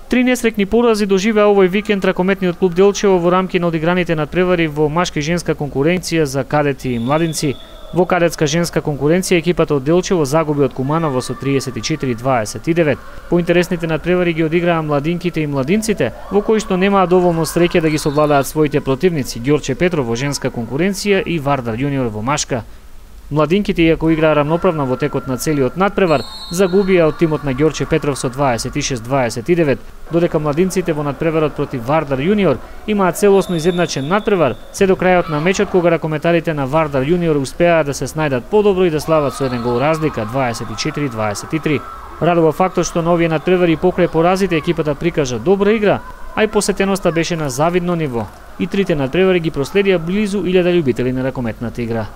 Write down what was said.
Три несрекни порази доживеа овој викенд ракометниот клуб Делчево во рамки на одиграните надпревари во машка и женска конкуренција за кадети и младинци. Во кадетска женска конкуренција екипата од Делчево загуби од Куманово со 34-29. Поинтересните надпревари ги одиграа младинките и младинците, во кои што немаа доволно среќа да ги совладаат своите противници Ѓорче Петров во женска конкуренција и Вардар јуниор во машка. Младинките, иако играа рамноправно во текот на целиот надпревар, загубија од тимот на Ѓорче Петров со 26-29, додека младинците во надпреварот против Вардар јуниор имаат целосно изедначен надпревар, се до крајот на мечот кога ракометарите на Вардар јуниор успеаа да се снајдат подобро и да слават со еден гол разлика 24-23. Радува фактот што на овие надпревари покрај поразите екипата прикажа добра игра, а и посетеноста беше на завидно ниво. И трите надпревари ги проследија близу 1000 љубители на ракометната игра.